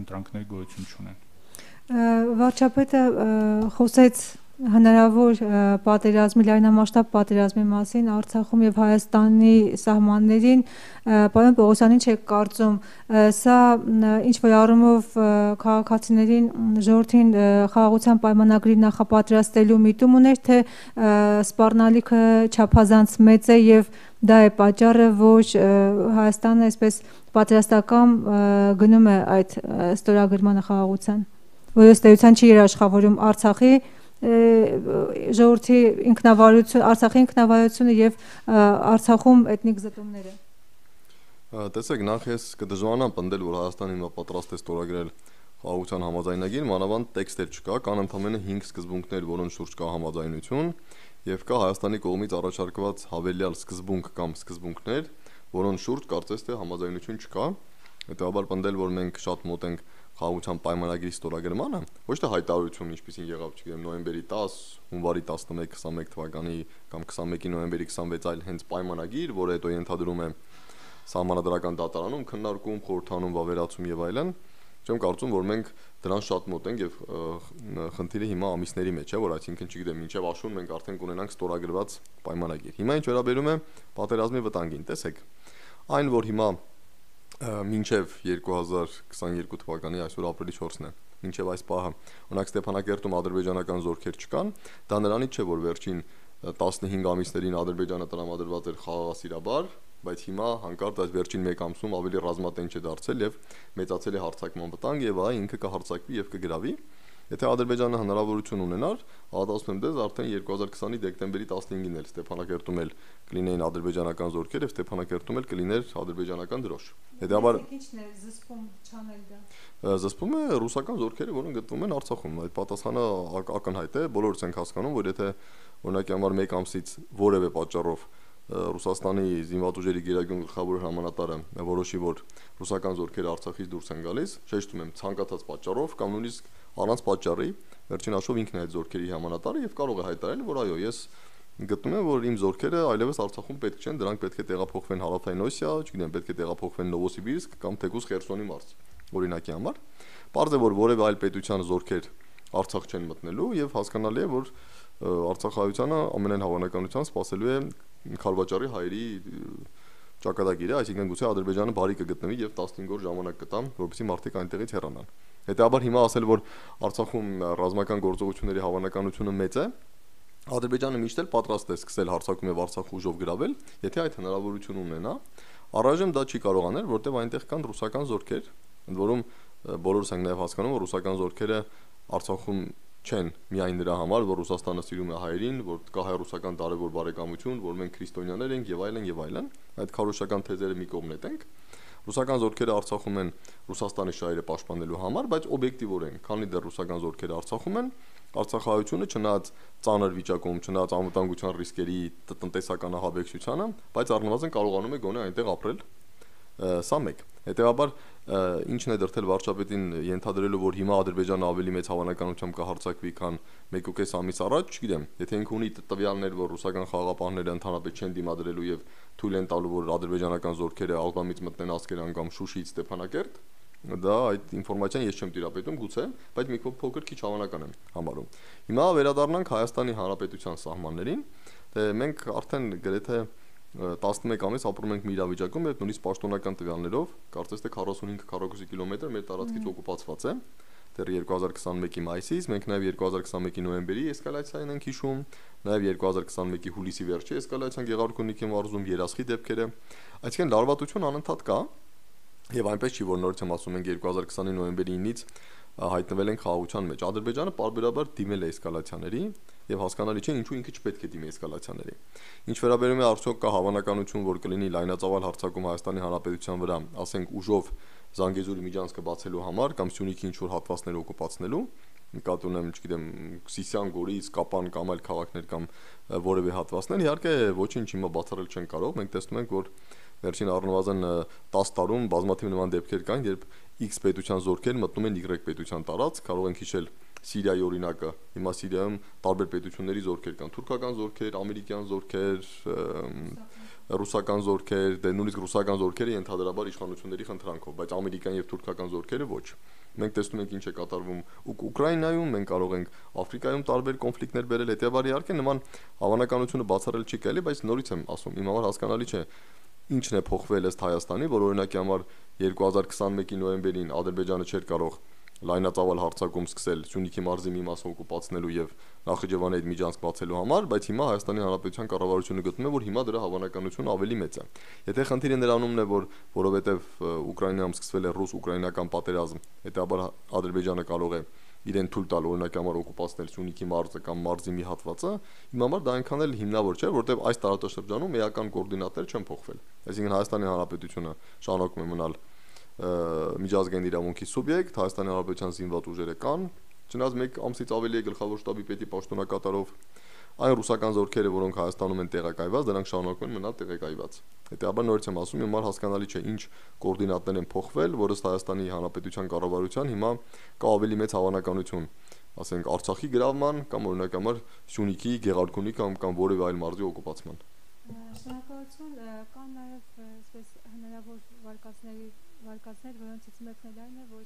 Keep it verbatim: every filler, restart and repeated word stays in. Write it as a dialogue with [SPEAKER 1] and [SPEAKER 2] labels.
[SPEAKER 1] ընտրանքներ գոյություն չունեն։
[SPEAKER 2] Վարչապետը խոսեց հնարավոր պատերազմի, լայնամասշտաբ պատերազմի մասին Արցախում եւ Հայաստանի սահմաններին, պարոն Պողոսյան, ինչ եք կարծում, սա ինչ որ առումով քաղաքացիներին, ժողովրդին խաղաղության պայմանագրի նախապատրաստելու միտում ուներ, թե սպառնալիքը չափազանց մեծ է եւ դա է պատճառը, որ Հայաստանը այսպես պատրաստական գնում է այդ ստորագրմանը խաղաղության, որ ըստ էության չի երաշխավորում Արցախի ժողովրդի ինքնավարություն, Արցախի ինքնավարությունը եւ Արցախում էթնիկ զտումները։
[SPEAKER 3] Տեսեք, նախ ես կդժվարանամ պնդել, որ Հայաստանը հիմա պատրաստ է ստորագրել խաղաղության համաձայնագիր, մանավանդ տեքստեր չկա, կան ընդամենը հինգ սկզբունքներ, որոնց շուրջ կա համաձայնություն, եւ կա Հայաստանի կողմից առաջարկված հավելյալ սկզբունք կամ սկզբունքներ, որոնց շուրջ կարծես թե համաձայնություն չկա։ Հետեւաբար պնդել, որ մենք շատ մոտ ենք խաղաղության պայմանագրի ստորագրմանը, ոչ թե հայտարարություն, ինչպեսին եղավ, չգիտեմ, նոյեմբերի տաս, հունվարի տասնմեկ քսանմեկ թվականի կամ քսանմեկի նոյեմբերի քսանվեց, այլ հենց պայմանագիր, որը հետո ենթադրում է սահմանադրական դատարանում քննարկում, խորհրդանում, վավերացում եւ այլն։ Չեմ կարծում, որ մենք դրան շատ մոտ ենք եւ խնդիրը հիմա ամիսների մեջ է, որ այսինքն չգիտեմ, մինչեւ աշուն մենք արդեն կունենանք ստորագրված պայմանագիր։ Հիմա ինչ վերաբերում է պատերազմի վտանգին, տեսեք, այն որ հիմա մինչև երկու հազար քսաներկու թվականի այսօր ապրիլի չորսն է, մինչև այս պահը, օրինակ Ստեփանակերտում ադրբեջանական զորքեր չկան, դա նրանից չէ, որ վերջին տասնհինգ ամիսներին Ադրբեջանը տրամադրված էր խաղաղասիրաբար, բայց հիմա հանկարծ այս վերջին մեկ ամսում ավելի ռազմատենչ է դարձել եւ մեծացել է հարձակման վտանգ եւ այ ինքը կհարձակվի եւ կգրավի։ Եթե Ադրբեջանը հնարավորություն ունենար, ադասում եմ դες արդեն երկու հազար քսանի դեկտեմբերի տասնհինգին էլ Ստեփանակերտում էլ կլինեին ադրբեջանական զորքեր եւ Ստեփանակերտում էլ կլիներ ադրբեջանական դրոշ։ Հետեւաբար
[SPEAKER 2] ինչն է զսպում չանել դա։
[SPEAKER 3] Զսպում է ռուսական զորքերը, որոնք գտնվում են Արցախում։ Այդ պատասխանը ակնհայտ է, բոլորս ենք հասկանում, որ եթե օրինակի համար մեկ ամսից որևէ պատճառով Ռուսաստանի զինված ուժերի գերագույն գլխավոր հրամանատարը որոշի, որ ռուսական զորքերը Արցախից դուրս են գալիս, շեշտում եմ, ցանկացած պատճառով կամ նույնիսկ առանց պատճառի, վերջին հաշվով ինքն է այդ զորքերի հրամանատարը եւ կարող է հայտարարել, որ այո, ես գտնում եմ, որ իմ զորքերը այլևս Արցախում պետք չեն, դրանք պետք է տեղափոխվեն Հարավային Օսիա, չգիտեմ, պետք է տեղափոխվեն Նովոսիբիրսկ կամ թեկուզ Խերսոնի մարզ, օրինակի համար։ Պարզ է, որ որևէ այլ պետության զորքեր Արցախ չեն մտնելու եւ հասկանալի է, որ Արցախայությանը ամենայն հավանականությամբ սպասելու է Խարվաճարի հայերի ճակատագիրը, այսինքն գուցե Ադրբեջանը բարի կգտնվի եւ տասնհինգ օր ժամանակ կտա, որպեսզի մարդիկ այնտեղից հեռանան։ Հետեւաբար հիմա ասել, որ Արցախում ռազմական գործողությունների հավանականությունը մեծ է, Ադրբեջանը միշտ էլ պատրաստ է սկսել հարձակում եւ Արցախ ուժով գրավել, եթե այդ հնարավորությունը ունենա, առայժմ դա չի կարող անել, որտեղ այնտեղ կան ռուսական զորքեր, ընդ որում բոլորս ենք նաեւ հասկանում, որ ռուսական զորքերը Արցախում չեն միայն նրա համար, որ Ռուսաստանը սիրում է հայերին, որ կա հայ-ռուսական տարեվոր բարեկամություն, որ մենք քրիստոնյաներ ենք եւ այլն եւ այլն, այդ քարոշական թեզերը մի կողմ նետենք։ Ռուսական զորքերը Արցախում են Ռուսաստանի շահերը պաշտպանելու համար, բայց օբյեկտիվորեն, քանի դեռ ռուսական զորքերը Արցախում են, Արցախայությունը չնայած ծանր վիճակում, չնայած անվտանգության ռիսկերի տնտեսական ահաբեկչությանը, բայց առնվազն կարողանում է գոնե այնտեղ ապրել։ Սա մեկ։ Հետեւաբար ինչն է դրթել վարչապետին ենթադրելու, որ հիմա Ադրբեջանը ավելի մեծ հավանականությամբ կհարձակվի, քան մեկ ու կես ամիս առաջ, չգիտեմ, եթե ինքը ունի տվյալներ, որ ռուսական խաղաղապահները ընդհանրապես չեն դիմադրելու եւ թույլ են տալու, որ ադրբեջանական զորքերը ալբամից մտնեն Ասկերան կամ Շուշիից Ստեփանակերտ, դա այդ ինֆորմացիան ես չեմ տիրապետում գուցե, բայց մի փոքր քիչ հավանական եմ համարում։ Հիմա վերադառնանք Հայաստանի Հանրապետության սահմաններին, թե մենք արդեն գրեթե տասնմեկ ամիս ապրում ենք մի իրավիճակում, երբ նույնիսկ պաշտոնական տվյալներով կարծես թե քառասունհինգ քառակուսի կիլոմետր մեր տարածքից օկուպացված է, դեռ երկու հազար քսանմեկի մայիսից, մենք նաև երկու հազար քսանմեկի նոյեմբերի էսկալացիան ենք հիշում, նաև երկու հազար քսանմեկի հուլիսի վերջի էսկալացիան Գեղարքունիքի մարզում, Երասխի դեպքերը, այսինքն լարվածություն անընդհատ կա, եւ այնպես չի, որ նորից եմ ասում, ենք երկու հազար քսանի նոյեմբերի ինից հայտնվել են խաղաղության մեջ։ Ադրբեջանը պարբերաբար դիմել է էսկալացիաների եւ հասկանալի չէ ինչու ինքը չպետք է դիմի էսկալացիաների։ Ինչ վերաբերում է արդյոք կա հավանականություն, որ կլինի լայնածավալ հարձակում Հայաստանի Հանրապետության վրա, ասենք ուժով Զանգեզուրի միջանցքը բացելու համար կամ Սյունիքի ինչ որ հատվածներ օկուպացնելու, նկատի ունեմ, չգիտեմ, Սիսիան, Գորիս, Կապան կամ այլ քաղաքներ կամ որևէ հատվածներ, իհարկե ոչինչ հիմա բացառել չեն կարող։ Մենք տեսնում ենք, որ վերջին առնվազն տասը տարում բազմաթիվ նման դեպքեր կան, երբ X պետության զորքեր մտնում են Y պետության տարածք, կարող ենք հիշել Սիրիայի օրինակը, հիմա Սիրիայում տարբեր պետությունների զորքեր կան, թուրքական զորքեր, ամերիկյան զորքեր, ռուսական զորքեր, դե նույնիսկ ռուսական զորքերը ենթադրաբար իշխանությունների խնդրանքով, բայց ամերիկյան եւ թուրքական զորքերը ոչ։ Մենք տեսնում ենք ինչ է կատարվում Ուկրաինայում, մենք կարող ենք Աֆրիկայում տարբեր կոնֆլիկտներ բերել, հետեւաբար իհարկե նման հավանականությունը բացառել չի կարելի, բայց նորից եմ ասում, իմ համար հասկանալի չէ ինչն է փոխվել ըստ Հայաստանի, որ օրինակի համար երկու հազար քսանմեկի նոյեմբերին Ադրբեջանը չէր կարող լայնածավալ հարձակում սկսել Սյունիքի մարզի մի մասը օկուպացնելու եւ Նախիջևանի հետ միջանցք բացելու համար, բայց հիմա Հայաստանի Հանրապետության կառավարությունը գտնում է, որ հիմա դրա հավանականությունը ավելի մեծ է։ Եթե խնդիրը նրանումն է, որ որովհետեւ Ուկրաինայում սկսվել է ռուս-ուկրաինական պատերազմ, հետաբար Ադրբեջանը կարող է իրեն թույլ տալ օրինակ համար օկուպացնել Սյունիքի մարզը կամ մարզի մի հատվածը, իմ համար դա այնքան էլ հիմնավոր չէ, որովհետեւ այս տարածաշրջանում էական կոորդինատներ չեն փոխվել։ Այսինքն Հայաստանի Հանրապետությունը շարունակում է մնալ միջազգային իրավունքի սուբյեկտ, Հայաստանի Հանրապետության զինված ուժերը կան, չնայած մեկ ամսից ավելի է գլխավոր շտաբի պետի պաշտոնակատարով այն ռուսական զորքերը, որոնք Հայաստանում են տեղակայված, դրանք շարունակում են մնալ տեղակայված։ Հետեւաբար նորից եմ ասում, հիմա հասկանալի չէ ինչ կոորդինատներ են փոխվել, որը Հայաստանի Հանրապետության կառավարության հիմա կա ավելի մեծ հավանականություն, ասենք Արցախի գրավման կամ օրինակ համար Սյունիքի, Գեղարքունի կամ կամ որևէ այլ մարզի օկուպացման։
[SPEAKER 2] Շնորհակալություն, կան նաև այսպես հնարավոր վարկածների վարկածներ, որոնցից մեկն էլ այն է, որ